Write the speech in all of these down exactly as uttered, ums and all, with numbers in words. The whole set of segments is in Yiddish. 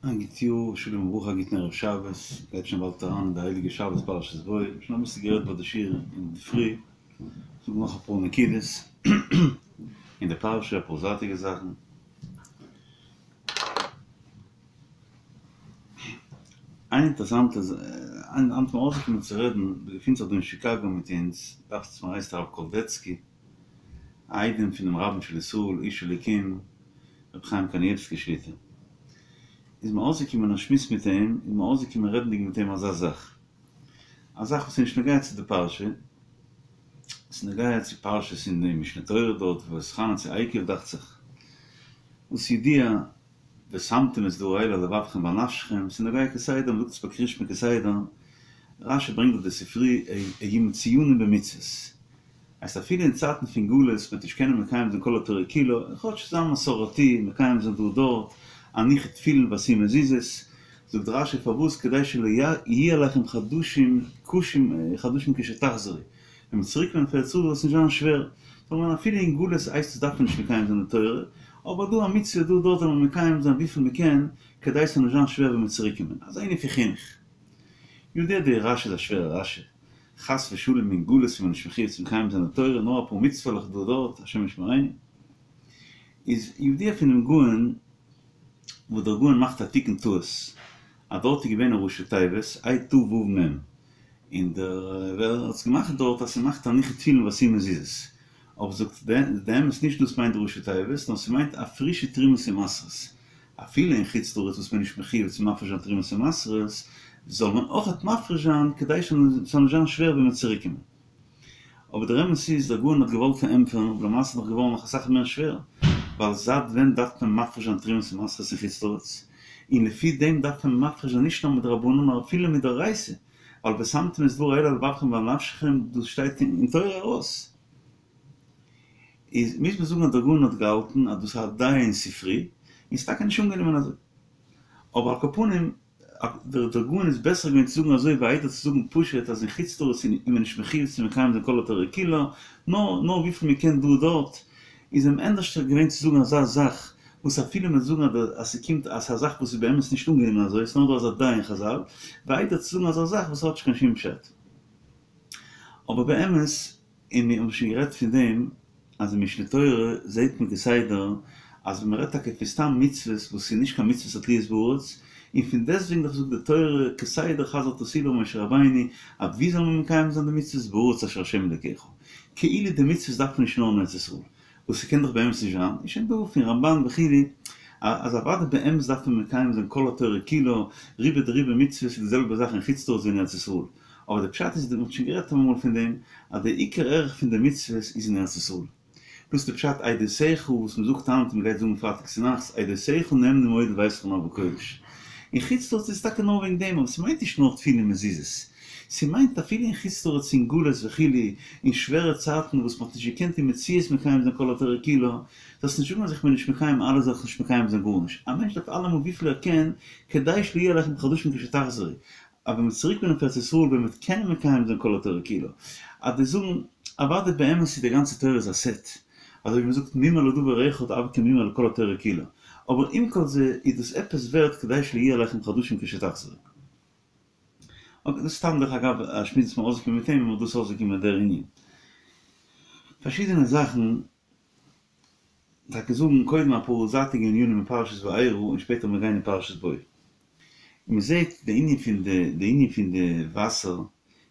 א גוט יאר, שלום וברכה, א גוטן ערב שבת, גייט שוין באלד אריין אין די הייליגע שבת פרשת בא, שוין אביסל גערעדט ביי די שיעור אינדערפרי, זאג נאך אפאר נקודות אין די פרשה, אפאר זייטיגע זאכן. איין אינטערעסאנטע היינט איז מיר אויסגעקומען צו רעדן, מ'געפינט זיך דא אין שיקאגא מיט אונז, דאכט זיך מיר הייסט הרב קאלדעצקי, א איידעם פונעם רבן של ישראל איש אלוקים רבי חיים קנייבסקי שליט"א, איז מיר אויסגעקומען א שמועס מיט אים, איז מיר אויסגעקומען רעדנדיג מיט אים אזא זאך, א זאך וואס איז נישט נוגע צו די פרשה, ס'איז נוגע צו פרשות אין די משנה תורה דארט, ואתחנן צו עקב דאכט זיך, וואס ידוע ושמתם את דבר האל על לבבכם ועל נפשכם, ס'איז נוגע כסדר, מ'זאגט עס ביי קריאת שמע כסדר, רש"י ברענגט דארט די ספרי היו מצוינים במצוות. הייסט אפילו אין צייטן פון גלות מ'וועט נישט קענען מקיים זיין כל התורה כולה, כאטש זיין מסורתי, מקיים זיין דא דארט, הניחו תפילין ועשו מזוזות, זאגט רש"י פארוואס כדי שלא יהיו עליכם חדשים קשים חדשים כשתחזרו, ווען מ'וועט צוריק קומען פון ארץ ישראל זאל עס נישט זיין שווער, זאל מען אפילו אין גלות הייסט עס דארף מען נישט מקיים זיין די תורה, אבער דא א מצוה דא דארט זאל מען מקיים זיין וויפיל מ'קען, כדי ס'זאל נישט זיין שווער ווען מ'וועט צוריק קומען, אזא ענין פון חינוך. ידוע די רש"י איז א שווערע רש"י. חס ושלום אין גלות איז מען נישט מחויב צו מקיים זיין די תורה נאר אפאר מצוה'לעך דא דארט השם ישמרינו איז ידוע פונעם גאון וואס דער גאון מאכט א תיקון טעות אז דארט איז געווען א ראשי תיבות ה' ת' ו' מ' און דער ווער האט עס געמאכט דארט אז ס'מאכט הניחו תפילין ועשו מזוזות אבער זאגט די אמת נישט דאס מיינט די ראשי תיבות נאר ס'מיינט הפרישו תרומות ומעשרות אפילו אין חוץ לארץ וואס מען איז נישט מחויב צו מפריש זיין תרומות ומעשרות, זאל מען אויכעט מפריש זיין כדי ס'זאל נישט זיין שווער ווען מ'וועט צוריק קומען. אבער דער אמת איז, דער גאון האט געוואלט פארענטפערן, אבער למעשה איז נאך געווארן נאך אסאך מער שווער, ווייל זייט ווען דארף מען מפריש זיין תרומות ומעשרות אין חוץ לארץ? און לפי דעם דארף מען מפריש זיין נישט נאר מדרבנן נאר אפילו מדאורייתא, ווייל ושמתם את דבר האל על לבבכם ועל נפשכם דאס שטייט אין תורה ארויס. איז מוז מען זאגן אז דער גאון האט געהאלטן אז דאס איז א דעה אין ספרי, און ס'איז טאקע נישט אנגענומען אזוי. אבער על כל פנים, דער דער גאון איז בעסער געווען צו זאגן אזוי ווי איידער צו זאגן פשוט אז אין חוץ לארץ איז מען נישט מחויב צו מקיים זיין כל התורה כולה, נאר נאר וויפיל מען קען דא דארט, איז אים ענדערשטער געווען צו זאגן אזא זאך, וואס אפילו מען זאגן אז ס'קומט אז ס'איז א זאך וואס איז באמת נישט אנגענומען אזוי, ס'איז נאר דא אזא דעה אין חזל, ווי איידער צו זאגן אזא זאך וואס האט נישט קיין שום פשט. אבער באמת. און מיר האבן שוין גערעדט פון דעם אז אין משנה תורה זעהט מען כסדר אז ווען מ'רעדט טאקע פון סתם מצוות וואס איז נישט קיין מצוות התלויות בארץ, און פון דעסטוועגן דאך זאגט די תורה כסדר חזר'ט עס איבער משה רבינו אז ווי זאל מען מקיים זיין די מצוות בארץ אשר ה' אלקיך כאילו די מצוות דארף מען נישט נאר אין ארץ ישראל וואס ס'קען דאך באמת נישט זיין, איז שוין דא פון רמב"ן וכו' אז אוודאי באמת דארף מען מקיים זיין כל התורה כולה, רובא דרובא מצוות איז די זעלבע זאך אין חוץ לארץ ווי אין ארץ ישראל. אבער די פשט איז, מ'האט שוין גערעדט אמאל פון דעם, אז די עיקר ערך פון די מצוות איז אין ארץ ישראל. דאס איז די פשט עדותיך וואס מ'זאגט היינט און מ'גייט זאגן פרייטאג צונאכטס, עדותיך נאמנים מאוד לביתך נאוה קודש. אין חוץ לארץ איז טאקע נאר וועגן דעם, אבער ס'מיינט נישט נאר תפילין און מזוזות. ס'מיינט אפילו אין חוץ לארץ אין גלות וכו', אין שווערע צייטן וואס מ'האט נישט געקענט אין מציאות מקיים זיין כל התורה כולה, זאלסט נישט זאגן אז איך בין נישט מקיים אלעס זאל איך נישט מקיים זיין גארנישט. א מענטש דארף אלעמאל וויפיל ער קען, כדי שלא יהיו עליכם חדשים כשתחזרו. אבער מ'וועט צוריק קומען אויף ארץ ישראל ווען מ'וועט קענען מקיים זיין כל התורה כולה. אז די זאגן, אוודאי באמת איז די גאנצע תורה איז א סעט, אזוי ווי מ'זאגט מומר לדבר אחד הוי כמומר לכל התורה כולה, אבער עם כל זה איז דאס עפעס ווערט כדי שלא יהיו עליכם חדשים כשתחזרו. אקעי, דאס איז סתם דרך אגב א שמועס וואס מ'איז אויסגעקומען מיט אים און דאס איז אויסגעקומען דער ענין. פארשידענע זאכן. טאקע זאגן קודם אפאר זייטיגע ענינים אין פרשת וארא און שפעטער מיר גיין אין פרשת בא. מען זעט די ענין פון די די ענין פון די וואסער,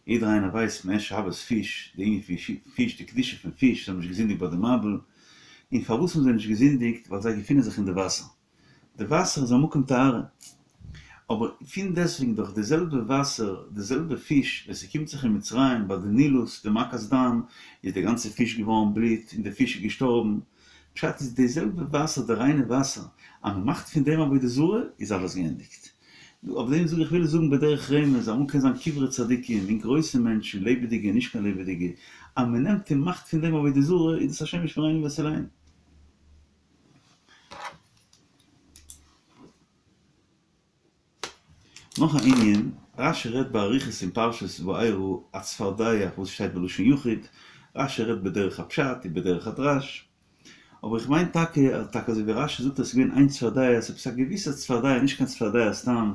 יעדער איינער ווייסט מען עסט שבת פיש, די ענין פון פיש די קדושה פון פיש, זיי האבן נישט געזינדיגט ביי די מבול, און פארוואס האבן זיי נישט געזינדיגט ווייל זיי געפינען זיך אין די וואסער, די וואסער איז א מקום טהרה, אבער פון דעסטוועגן דאך די זעלבע וואסער, די זעלבע פיש, ווען ס'קומט זיך אין מצרים ביי די נילוס, די מכת דם, איז די גאנצע פיש געווארן בלוט און די פיש איז געשטארבן, פשט איז די זעלבע וואסער, די ריינע וואסער, אז מ'מאכט פון דעם עבודה זרה, איז אלעס געענדיגט. אויף דעם זאג איך וויל זאגן בדרך רמז, אמאל קען זיין קברי צדיקים און גרויסע מענטשן, לעבעדיגע און נישט קיין לעבעדיגע, אז מ'נעמט און מאכט פון דעם עבודה זרה, איז דאס השם ישמרינו ויצילנו. נאך א ענין, רש"י רעדט באריכות אין פרשת וארא הצפרדע וואס שטייט בלשון יחיד, רש"י רעדט בדרך הפשט און בדרך הדרש, אבער איך מיין טאקע אז טאקע אזוי ווי רש"י זאגט אז ס'איז געווען איין צפרדע, ס'איז עפעס א געוויסע צפרדע, נישט קיין צפרדע סתם,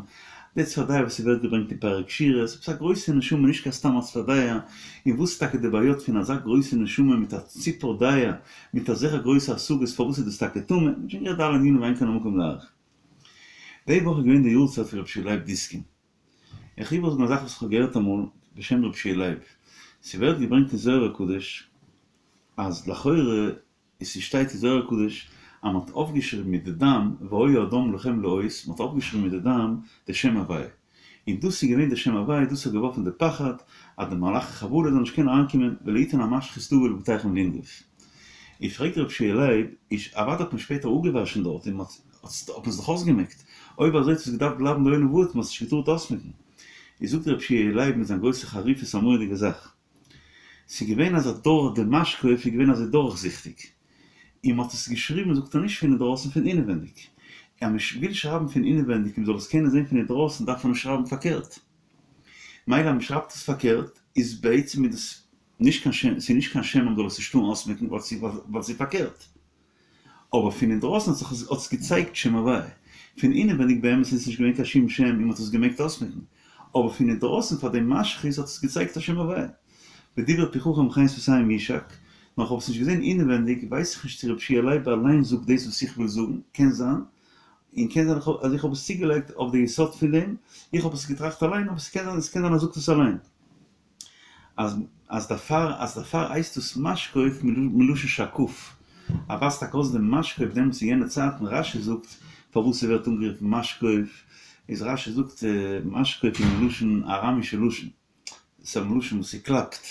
די צפרדע וואס ס'ווערט געברענגט אין פרק שירה, ס'איז עפעס א גרויסע נשמה נישט קיין סתם א צפרדע, און וואס איז טאקע די בעיות פון אזא גרויסע נשמה מיט א ציפור דעה, מיט אזעלכע גרויסע השגות פארוואס איז דאס טאקע טמא, מ'האט שוין גערעדט די אלע ענינים ואין כאן המקום להאריך. די וואך איז געווען די יארצייט פון רבי יהושע לייב דיסקין. איך וויל איבערזאגן א זאך וואס איך האב געהערט אמאל בשם רבי יהושע לייב. ס'ווערט געברענגט אין זוהר הקדוש אז לכאורה איז ס'שטייט אין זוהר הקדוש אז מ'האט אויפגעשריבן מיט די דם והיה הדם לכם לאות, מ'האט אויפגעשריבן מיט די דם די שם הוויה. און דאס איז געווען די שם הוויה, דאס האט געווארפן די פחד אז די מלאכי חבלה זאלן נישט קענען אריינקומען ולא יתן המשחית לבוא לבתיכם לנגוף. איז פרעגט רבי יהושע לייב, איז אוודאי האט מען שפעטער אפגעוואשן דארט און מ'האט האט מען עס דאך אויסגעמעקט, אויב אזוי האט עס געדארפט בלייבן לעולם ועד, מ'האט עס נישט געטארט אויסמעקן. איז זאגט רבי יהושע לייב מיט זיין גרויסע חריפות א מורא'דיגע זאך. ס'איז געווען אז דורך די משקוף איז געווען אזוי דורכזיכטיג, און מ'האט עס געשריבן זאגט ער נישט פון אינדרויסן פון אינעווענדיג, אז מ'וויל שרייבן פון אינעווענדיג און מ'זאל עס קענען זען פון אינדרויסן דארף מען עס שרייבן פארקערט, מילא אז מ'שרייבט עס פארקערט איז בעצם איז דאס נישט קיין שם, ס'איז נישט קיין שם אז מ'זאל עס נישט טארן אויסמעקן ווייל ס'איז פארקערט. אבער פון אינדרויסן האט זיך האט עס געצייגט שם הוויה. פון אינעווייניג באמת איז עס נישט געווען קיין שום שם און מ'האט עס געמעגט אויסמעקן. אבער פון אינדרויסן פאר דעם משחית האט עס געצייגט א שם הוויה. ודברי פי חכם חן שפתים יישק, נאר כ'האב עס נישט געזען אינעווענדיג, ווייס איך נישט צו רבי יהושע לייב אליין זאגט דאס וואס איך וויל זאגן, קען זיין, און קען זיין אז איך האב עס צוגעלייגט אויף די יסוד פון דעם, איך האב עס געטראכט אליין, אבער ס'קען זיין ס'קען זיין ער זאגט עס אליין. אז אז דערפאר אז דערפאר הייסט דאס משקוף מלשון שקוף, אז ווייזט טאקע אויס דעם משקוף דעמאלטס אין יענע צייטן, רש"י זאגט פארוואס ס'ווערט אנגערופן משקוף, איז רש"י זאגט משקוף איז מלשון אראמישע לשון, ס'איז א מלשון וואס ס'קלאפט,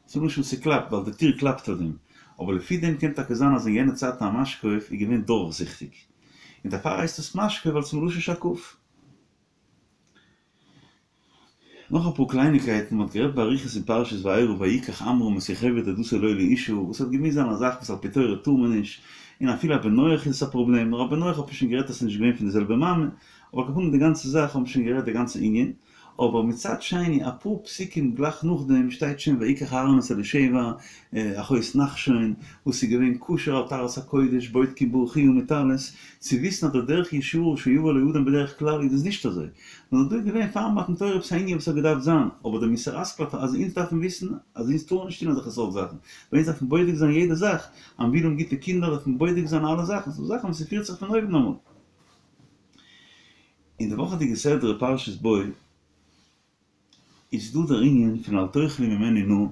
ס'איז א מלשון וואס ס'קלאפט ווייל די טיר קלאפט אויף דעם, אבער לפי דעם קען טאקע זיין אז אין יענע צייטן א משקוף איז געווען דורכזיכטיג, און דערפאר הייסט עס משקוף ווייל ס'איז מלשון שקוף. נאך אפאר קלייניקייטן, מ'האט גערעדט באריכות אין פרשת וארא ויקח עמרם את יוכבד דודתו לו לאשה, וואס האט געמוזט זיין א זאך וואס על פי תורה טאר מען נישט, און אפילו א בן נח איז עס א פראבלעם, נאר א בן נח האט מען שוין גערעדט אז ס'איז נישט געווען פון די זעלבע מאמע, אבער על כל פנים די גאנצע זאך האט מען שוין גערעדט די גאנצע ענין, אבער מצד שני אפאר פסוקים גלייך נאכדעם שטייט שוין ויקח אהרן את אלישבע אחות נחשון וואס איז געווען כשר על טהרת הקודש בודקים ברכיה מיט אלעס, צו וויסן אז דער דרך ישרה שיבא לאדם בדרך כלל איז דאס נישט אזוי, נאר דא איז געווען פאר מתן תורה עפעס א ענין וואס האט געדארפט זיין, אבער דער מוסר השכל אז אונז דארפן וויסן אז אונז טארן נישט טון אזעלכע סארט זאכן, ווייל אונז דארפן בודק זיין יעדע זאך, אז מ'וויל האבן גוטע קינדער דארף מען בודק זיין אלע זאכן, ס'דא זאכן וואס ס'פירט זיך פון אויבן אמאל. אין די וואכעדיגע סדרה פרשת בא איז דא דער ענין פון אל תאכלו ממנו נא,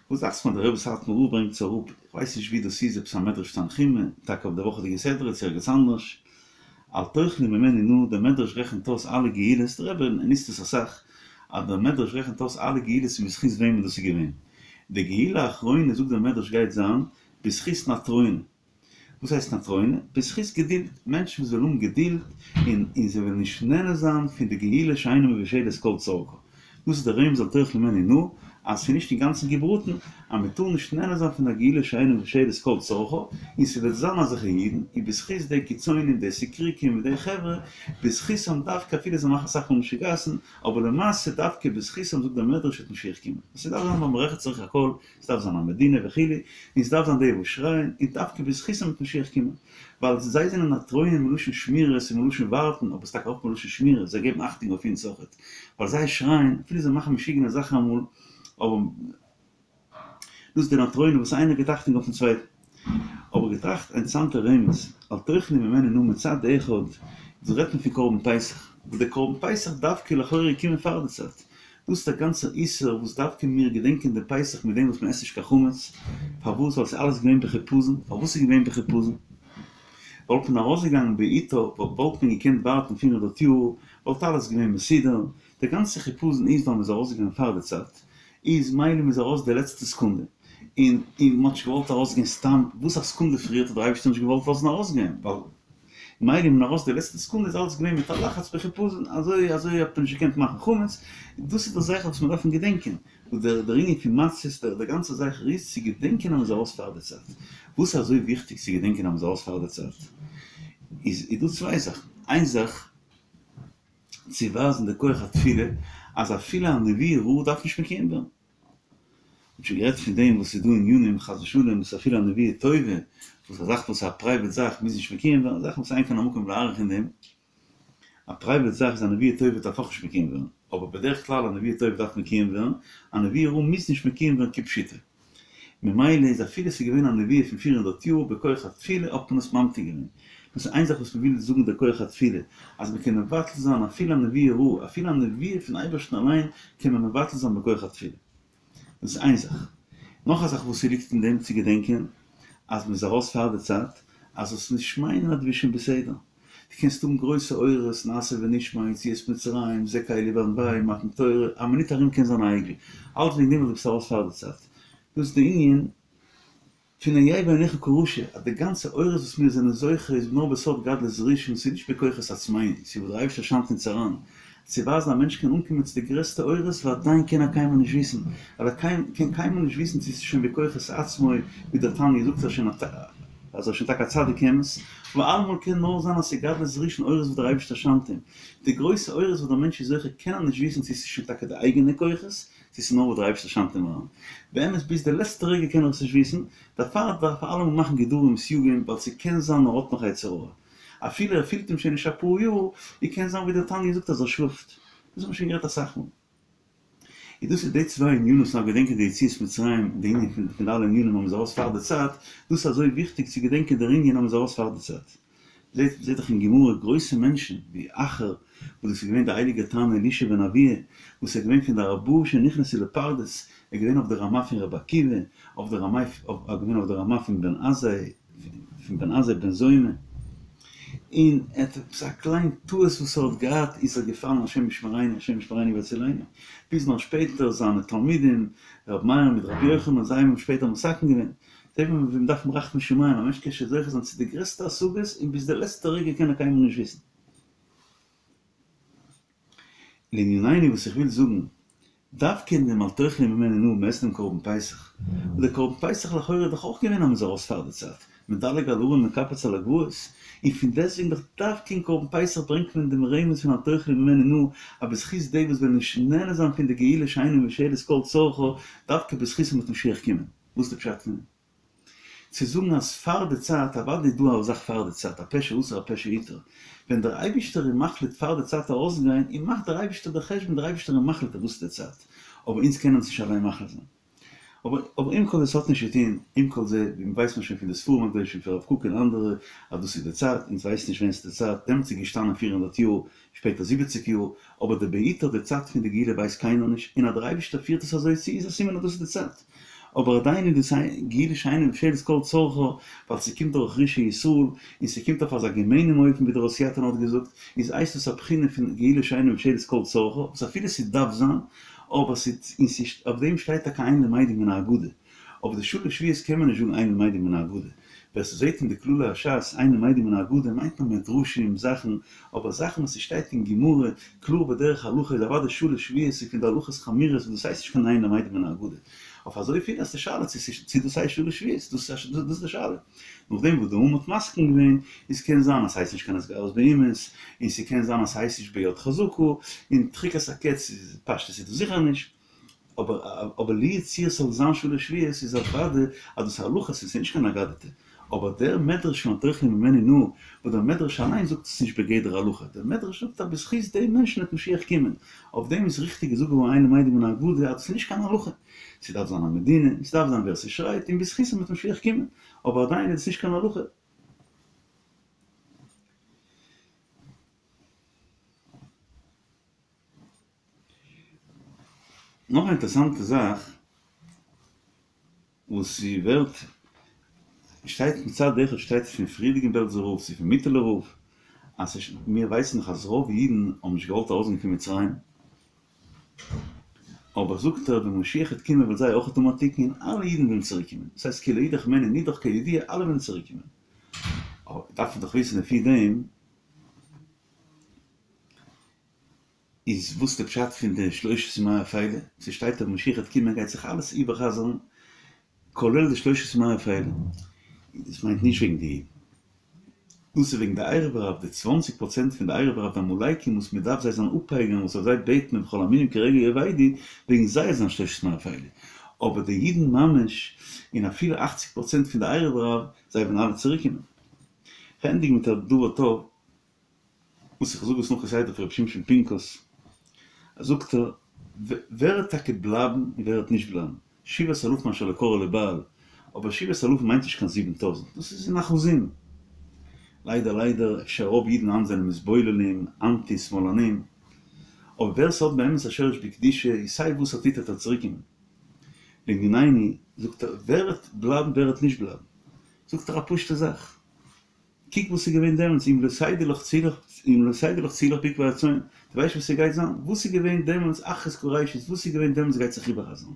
וואס דאכט זיך מיר דער רבי סאטמאר רב ברענגט עס אראפ, איך ווייס נישט ווי דאס איז, עפעס א מדרש תנחומא, טאקע אויף די וואכעדיגע סדרה צו ערגעץ אנדערש, אל תאכלו ממנו נא, דער מדרש רעכנט אויס אלע גאולות, דער רבי נוצט עס אסאך, אז דער מדרש רעכנט אויס אלע גאולות און בזכות וועמען דאס איז געווען. די גאולה האחרונה זאגט דער מדרש גייט זיין בזכות נטרונא. וואס הייסט נטרונא? בזכות געדולד, מענטשן וואס וועלן האבן געדולד און און זיי וועלן נישט נהנה זיין פון די גאולה שאינה מבושלת כל צרכה. דאס איז דער רמז אל תאכלו ממנו נא, אז ס'איז נישט אינגאנצן געבראטן, אז מען טאר נישט נהנה זיין פון א גאולה שאינה מבושלת כל צרכה, און ס'וועט זיין אזעלכע אידן, און בזכות די קיצונים, די סיקריקים און די חברה, בזכותם דווקא אפילו זיי מאכן אסאך מאל משוגעת'ן, אבער למעשה דווקא בזכותם זאגט דער מדרש וועט משיח קומען. ס'דארף זיין במערכת צריך הכל, ס'דארף זיין א מדינה וכו', און ס'דארף זיין די וואס שרייען, און דווקא בזכותם וועט משיח קומען. ווייל זיי זענען נטרונא מלשון שמירות און מלשון ווארטן, אבער ס'טאקע אויך מלשון שמירה, זיי געבן אכטונג אויף אונז אויכעט. ווייל זיי שרייען, אפילו זיי מאכן משוגענע זאכן אמאל, אבער דאס איז די נטרונא וואס איינער גיבט אכטונג אויפן צווייטן. האב איך געטראכט א אינטערעסאנטע רמז, אל תאכלו ממנו נא מצד אחד, דא רעדט מען פון קרבן פסח, וואס דער קרבן פסח דווקא לכאורה געקומען פאר די צייט, דאס איז דער גאנצער איסור וואס דווקא מיר געדענקען דעם פסח מיט דעם וואס מען עסט נישט קיין חמץ, פארוואס? ווייל עס איז אלעס געווען בחיפזון, פארוואס איז געווען בחיפזון? וואלט מען ארויסגעגאנגען בעיתו, וואלט מען געקענט ווארטן פיר הונדערט יאר, וואלט אלעס געווען מסודר, דער גאנצער חיפזון איז ווייל מען איז ארויסגעגאנגען פאר די צייט, איז מילא מען איז ארויס די לעצטע סעקונדע, און און מען האט נישט געוואלט ארויסגיין סתם, וואס א סעקונדע פריער האט דער אייבערשטער נישט געוואלט לאזן ארויסגיין, ווייל מילא איז מען ארויס די לעצטע סעקונדע איז אלעס געווען מיט א לחץ בחיפזון, אזוי אזוי האט מען נישט געקענט מאכן חמץ, דאס איז די זכר וואס מיר דארפן געדענקען, וואס דער דער ענין פון מצות, דער דער גאנצער זכר איז צו געדענקען אז מען איז ארויס פאר די צייט, וואס איז אזוי וויכטיג צו געדענקען אז מען איז ארויס פאר די צייט, איז איז דא צוויי זאכן, איין זאך, צו ווייזן די כח התפילה אז אפילו א נבואה רעה דארף נישט מקוים ווערן. מ'האט שוין גערעדט פון דעם וואס ס'איז דא ענינים חס ושלום וואס אפילו א נבואה טובה, וואס א זאך וואס איז א פרייוועט זאך מוז נישט מקוים ווערן, זאכן וואס אין כאן המקום להאריך אין דעם, א פרייוועט זאך איז א נבואה טובה דארף אויך נישט מקוים ווערן, אבער בדרך כלל א נבואה טובה דארף מקוים ווערן, א נבואה רעה מוז נישט מקוים ווערן כפשוטו. ממילא איז אפילו ס'איז געווען א נבואה פון פיר הונדערט יאר בכח התפילה האט מען עס ממתיק געווען. דאס איז איין זאך וואס מ'וויל זאגן דער כח התפילה, אז מ'קען מבטל זיין אפילו א נבואה רעה, אפילו א נבואה פון אייבערשטן אליין קען מען מבטל זיין בכח התפילה. דאס איז איין זאך. נאך א זאך וואס ס'ליגט אין דעם צו געדענקען, אז מ'איז ארויס פאר די צייט, אז זאלסט נישט מיינען אז דו ביסט שוין בסדר. דו קענסט האבן גרויסע אורות, נעשה ונשמע, יציאת מצרים, זה קלי ואנוהו, מתן תורה, א מינוט ארום קען זיין א עגל. אלץ וועגן דעם ווייל דו ביסט ארויס פאר די צייט. דאס איז די ענין פון היה בעיניך כרשע, אז די גאנצע אורות וואס מיר זענען זוכה איז נאר בסוד גדלות ראשון, ס'איז נישט בכוחות עצמינו, ס'איז וואס דער אייבערשטער שיינט אונז אריין, צו ווייזן א מענטש קען אנקומען צו די גרעסטע אורות ועדיין קען ער קיינמאל נישט וויסן, ווייל ער קען קיינמאל נישט וויסן צו ס'איז שוין בכוחות עצמו, ווי דער תניא זאגט אז ער איז שוין טאקע א צדיק אמת, אבער אלעמאל קען נאר זיין אז ס'איז גדלות ראשון אורות וואס דער אייבערשטער שיינט אים, די גרויסע אורות וואס דער מענטש איז זוכה קען ער נישט וויסן צו ס'איז שוין טאקע די אייגענע כוחות, צו ס'איז נאר וואס דער אייבערשטער שיינט אים אריין. באמת ביז די לעצטע רגע קען ער עס נישט וויסן, דערפאר דארף ער אלעמאל מאכן גדרים וסייגים ווייל ס'קען זיין ער האט נאך יצר הרע. אפילו ער פילט אים שוין נישט אפאר יאר, און קען זיין ווי דער תניא זאגט אז ער שלאפט. דאס האט מען שוין גערעדט אסאך מאל. און דאס איז די צוויי ענינים וואס מ'דארף געדענקען די יציאת מצרים, די ענין פון די אלע ענינים אז מ'איז ארויס פאר די צייט, דאס איז אזוי וויכטיג צו געדענקען דער ענין אז מ'איז ארויס פאר די צייט. זעט זעט דאך אין גמרא גרויסע מענטשן ווי אחר, וואס דאס איז געווען דער הייליגער תנא אלישע בן אבויה, וואס איז געווען פון די ארבעה שנכנסו לפרדס, ער איז געווען אויף די רמה פון רבי עקיבא, אויף די רמה ער איז געווען אויף די רמה פון בן עזאי, פון בן עזאי בן זומא, און ער האט עפעס א קליין טעות וואס ער האט געהאט איז ער געפאלן השם ישמרינו השם ישמרינו ויצילנו, ביז נאך שפעטער זיינע תלמידים רבי מאיר מיט רבי יוחנן זיי האבן אים שפעטער מתקן געווען, זעט מען ווי מ'דארף האבן רחמי שמים, א מענטש קען שוין זוכה זיין צו די גרעסטע השגות און ביז די לעצטע רגע קען ער קיינמאל נישט וויסן. לענינינו וואס איך וויל זאגן, דווקא אין דעם אל תאכלו ממנו נא מ'עסט דעם קרבן פסח, וואס דער קרבן פסח לכאורה איז דאך אויך געווען אז מ'איז ארויס פאר די צייט, מדלג על ההרים מקפץ על הגבעות, און פון דעסטוועגן דאך דווקא אין קרבן פסח ברענגט מען דעם רמז פון אל תאכלו ממנו נא, אז בזכות די וואס וועלן נישט נהנה זיין פון די גאולה שאינה מבושלת כל צרכה, דווקא בזכותם וועט משיח קומען. וואס איז די פשט פון דעם? צו זאגן אז פאר די צייט, אוודאי איז דא א זאך פאר די צייט, הפה שאסר הפה שהתיר, ווען דער אייבישטער איז מחליט פאר די צייט ארויסגיין, און מאכט דער אייבישטער די חשבון, דער אייבישטער איז מחליט אז דאס איז די צייט, אבער אונז קענען עס נישט אליין מחליט זיין. אבער אבער עם כל זה ס'האט נישט צו טון, עם כל זה, ווי מ'ווייסט מען שוין פון די ספרים הקדושים פון הרב קוק און אנדערע, אז דאס איז די צייט, אונז ווייסן נישט ווען ס'איז די צייט, דעמאלטס איז געשטאנען פיר הונדערט יאר, שפעטער זיבעציק יאר, אבער די בעיקר די צייט פון די גאולה ווייסט קיינער נישט, און אז דער אייבישטער פירט עס אזוי צו איז א סימן אז דאס איז די צייט. אבער עדיין איז דאס א גאולה שאינה מבושלת כל צרכה, ווייל ס'קומט דורך רשעי ישראל, און ס'קומט אויף אזא געמיינעם אופן ווי דער הוסיאטין האט געזאגט, איז הייסט דאס א בחינה פון גאולה שאינה מבושלת כל צרכה, וואס אפילו ס'דארף זיין, אבער ס'איז, און ס'איז, אויף דעם שטייט טאקע אין למדים מן האגדה. אויף די שלש שבועות קען מען נישט זאגן אין למדים מן האגדה. ווער ס'זעט אין די כללי הש"ס אין למדים מן האגדה מיינט מען מדרשים זאכן, אבער זאכן וואס ס'שטייט אין גמרא קלאר בדרך הלכה איז אוודאי שלש שבועות איז פון די הלכות חמורות וואס דאס הייסט נישט קיין אין למדים מן האגדה. אויף אזויפיל אז די שאלה צו צו דאס הייסט שלש שבועות דאס איז די שאלה. נאכדעם וואס די או"ם האט מסכים געווען איז קען זיין אז ס'הייסט נישט קיין התגרות באומות, און ס'קען זיין אז ס'הייסט נישט ביד חזקה, און דחיקת הקץ איז פשטות איז דאס זיכער נישט. אבער אבער לו יצוייר ס'זאל זיין שלש שבועות איז אוודאי אז דאס איז הלכות און ס'איז נישט קיין אגדתא. אבער דער מדרש פון אל תאכלו ממנו נא, וואס דער מדרש אליין זאגט עס נישט בגדר הלכה, דער מדרש זאגט אז בזכות די מענטשן וועט משיח קומען, אויף דעם איז ריכטיג געזאגט געווארן אין למדים מן האגדה אז דאס איז נישט קיין הלכה. ס'דארף זיין א מדינה, ס'דארף זיין ווער ס'שרייט, און בזכותם וועט משיח קומען. אבער עדיין איז עס נישט קיין הלכה. נאך א אינטערעסאנטע זאך וואס ס'ווערט שטייט מצד אחד שטייט פון פריערדיגן בעלזער רב צו פון מיטעלער רב אז מיר ווייסן דאך אז רוב אידן האבן נישט געוואלט ארויסגיין פון מצרים אבער זאגט ער ווען משיח וועט קומען וועט זיי אויך האבן א תיקון און אלע אידן וועלן צוריק קומען דאס הייסט כי לא ידח ממנו נדח כידוע אלע וועלן צוריק קומען אבער דארף מען דאך וויסן לפי דעם איז וואס די פשט פון די שלושת ימי אפילה? ס'שטייט אז משיח וועט קומען גייט זיך אלעס איבערחזר'ן כולל די שלושת ימי אפילה. דאס מיינט נישט וועגן די אידן. דאס איז וועגן די ערב רב, די צוואנציג פראצענט פון די ערב רב די עמלקים וואס מען דארף זיי זאלן אפפייגערן וואס אויף זיי בעט מען וכל המינים כרגע יאבדו, וועגן זיי איז זיין שלושת ימי אפילה. אבער די אידן ממש, און אפילו אכציג פראצענט פון די ערב רב, זיי וועלן אלע צוריקקומען. כ'ענדיג מיט א דבר טוב, וואס איך זאג עס נאך כסדר פון ר' שמשון פינקוס, זאגט ער, ווער וועט טאקע בלייבן און ווער וועט נישט בלייבן? שבעת אלפים אשר לא כרעו לבעל, אבער שבעת אלפים מיינט נישט קיין זיבן טויזנט, דאס איז אין אחוזים. ליידער ליידער, אפשר רוב אידן היינט זענען מתבוללים, אנטי שמאלנים, אבער ווער ס'האט באמת א שורש בקדושה, איז סיי וואס ער טוט וועט ער צוריקקומען. לענינינו, זאגט ער, ווער וועט בלייבן ווער וועט נישט בלייבן? זאגט ער א פשוטע זאך. קוק וואס איז געווען דעמאלטס, אם לא תדעי לך צאי לך, אם לא תדעי לך צאי לך בעקבי הצאן, דו ווייסט וואס ס'גייט זיין? וואס איז געווען דעמאלטס אחרית כראשית, וואס איז געווען דעמאלטס גייט זיך איבערחזרן.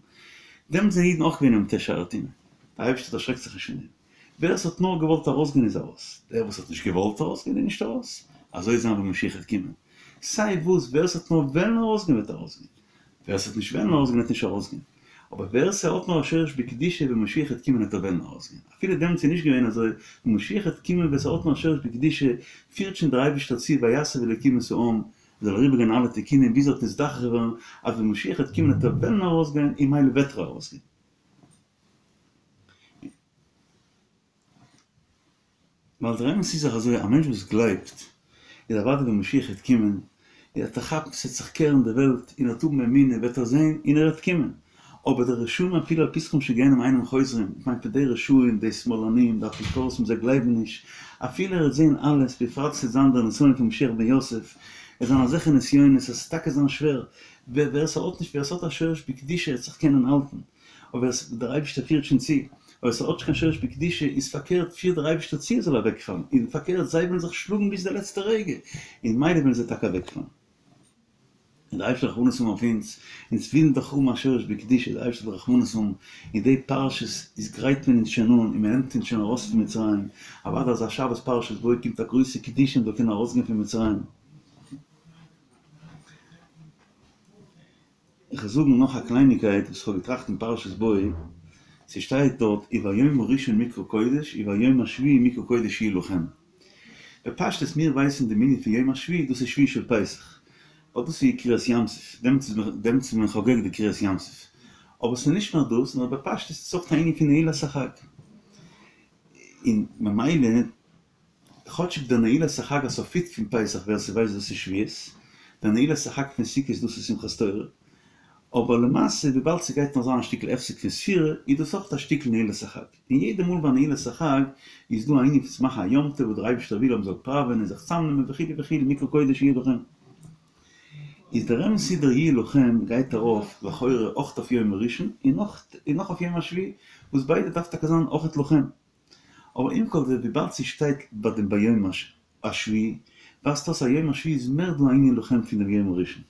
דעמאלטס זענען אידן אויך געווען אין מ"ט שערי טומאה. דער אייבערשטער דערשרעקט זיך נישט פון דעם. ווער עס האט נאר געוואלט ארויסגיין איז ארויס, דער וואס האט נישט געוואלט ארויסגיין איז נישט ארויס. אזוי וועט זיין ווען משיח וועט קומען. סיי וואס, ווער עס האט נאר וועלן ארויסגיין וועט ארויסגיין. ווער עס וועט נישט וועלן ארויסגיין וועט נישט ארויסגיין. אבער ווער ס'האט נאר א שורש בקדושה ווען משיח וועט קומען וועט ער וועלן ארויסגיין. אפילו דעמאלטס איז נישט געווען אזוי, ווען משיח וועט קומען ווער ס'האט נאר א שורש בקדושה פירט שוין דער אייבערשטער צו ויסב אלוקים את העם זאל אריבערגיין אלע תיקונים ביז ער וועט נזדכך ווערן אז ווען משיח וועט קומען וועט ער וועלן ארויסגיין און ממילא וועט ער ארויסגיין. ווייל דער אמת איז דאך אזוי, א מענטש וואס גלייבט, איז אוודאי ווען משיח וועט קומען, וועט ער כאפן ס'וועט זיך קערן די וועלט, און ער וועט האבן אמונה, וועט ער זען, און ער וועט קומען. אבער די רשעים אפילו על פתחם של גיהנם אינם חוזרים, איך מיין פון די רשעים, די שמאלנים, די אפיקורסים, זיי גלייבן נישט, אפילו ער וועט זען אלעס, בפרט ס'וועט זיין דער נסיון פון משיח בן יוסף, עס זיין אזעלכע נסיונות אז ס'וועט טאקע זיין שווער, ווער ס'האט נישט, ווער ס'האט א שורש בקדושה וועט זיך קענען האלטן. אבער עס דער אייבערשטער פירט שוין צו, אבער עס האט נישט קיין שורש בקדושה, איז פארקערט פירט דער אייבערשטער צו ער זאל אוועקפאלן, און פארקערט זיי וועלן זיך שלאגן ביז די לעצטע רגע, און ממילא וועלן זיי טאקע אוועקפאלן. און דער אייבערשטער רחמנות האבן אויף אונז, אונז ווילן דאך האבן א שורש בקדושה, דער אייבערשטער זאל רחמנות האבן, אין די פרשות איז גרייט מען אונז שוין אן, און מען נעמט אונז שוין ארויס פון מצרים, אוודאי אזא שבת פרשת בא קומט א גרויסע קדושה מען זאל קענען ארויסגיין פון מצרים. איך וועל זאגן נאך א קלייניקייט וואס איך האב געטראכט אין פרשת בא, ס'שטייט דארט וביום הראשון מקרא קודש וביום השביעי מקרא קודש יהיה לכם. בפשטות מיר ווייסן דעם ענין פון יום השביעי דאס איז שביעי של פסח, ווייל דאס איז קריעת ים סוף, דעמאלטס איז מען חוגג די קריעת ים סוף, אבער ס'איז נישט נאר דאס, נאר בפשטות איז עס אויך א ענין פון נעילת החג, און ממילא כאטשיג דער נעילת החג הסופית פון פסח ווער ס'ווייסט דאס איז שבועות, דער נעילת החג פון סוכות דאס איז שמחת תורה, אבער למעשה וויבאלד ס'גייט נאך זיין א שטיקל הפסק פון ספירה איז דאס אויך א שטיקל נעילת החג, און יעדע מאל ביי נעילת החג איז דא א ענין פון צו מאכן א יום טוב וואס דער אייבערשטער וויל אז מ'זאל פראווען און זיך צאמנעמען וכו' וכו' מקרא קודש יהיה לכם. איז דער אמת איז דער יהיה לכם גייט ארויף לכאורה אויך אויף יום הראשון און נאך אויף יום השביעי וואס ביידע דארף טאקע זיין אויכעט לכם. אבער עם כל זה וויבאלד ס'שטייט ביי דעם ביום השביעי, ווייזט אויס אז יום השביעי איז מער דא א ענין לכם פון דעם יום הראשון.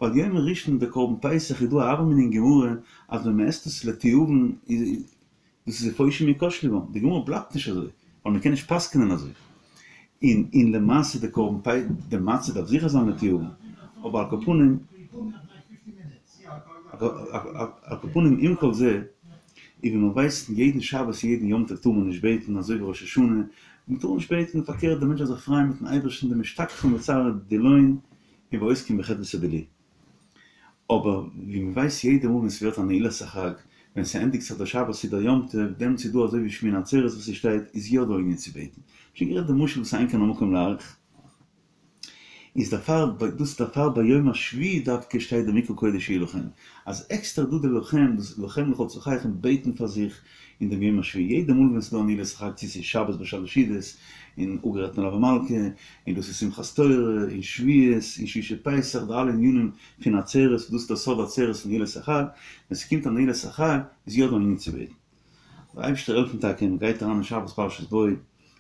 ווייל יום הראשון די קרבן פסח איז דא א הוה אמינא אין גמרא אז ווען מ'עסט עס לתיאבון איז דאס איז ופושעים יכשלו בם, די גמרא בלייבט נישט אזוי, ווייל מ'קען נישט פסק'נען אזוי. און און למעשה די קרבן פ די מצה דארף זיכער זיין לתיאבון, אבער על כל פנים על כל פנים עם כל זה, און ווי מען ווייסט יעדן שבת יעדן יום טוב טאר מען נישט בעטן אזוי ווי ראש השנה, מען טאר נישט בעטן, פארקערט דער מענטש זאל זיך פרייען מיטן אייבערשטן דמשתכחין בצערא דילהון ועוסקין בחדוותא דילי. אבער ווי מען ווייסט יעדע מאל ווען ס'ווערט א נעילת החג, ווען ס'ענדיגט זיך דער שבת צו דער יום טוב, דעמאלטס איז דא אזוי ווי שמיני עצרת וואס ס'שטייט, איז יא דא ענין צו בעטן. שוין גערעדט די משל וואס אין כאן המקום להאריך. איז דערפאר דאס דערפאר ביום השביעי דווקא שטייט דער מקרא קודש יהיה לכם, אז עקסטער דא די לכם, דאס לכם לכל צרכיכם בעטן פאר זיך אין דעם יום השביעי, יעדע מאל ווען ס'איז דא א נעילת החג צו ס'איז שבת ביי שלש סעודות, און אפגערעדט מלוה מלכה, און דאס איז שמחת תורה, און שבועות, און שביעי של פסח, די אלע ענינים פון עצרת, דאס איז דער סוד עצרת פון נעילת החג, ווען ס'קומט א נעילת החג איז יא דא ענין צו בעטן. זאל דער אייבערשטער העלפן טאקע מען גייט אריין אין שבת פרשת בא, מען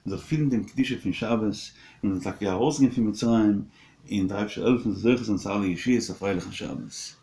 זאל פילן דעם קדושה פון שבת, און מען זאל טאקע ארויסגיין פון מצרים, און דער אייבערשטער זאל העלפן זוכה זיין צו אלע ישועות, א פרייליכן שבת.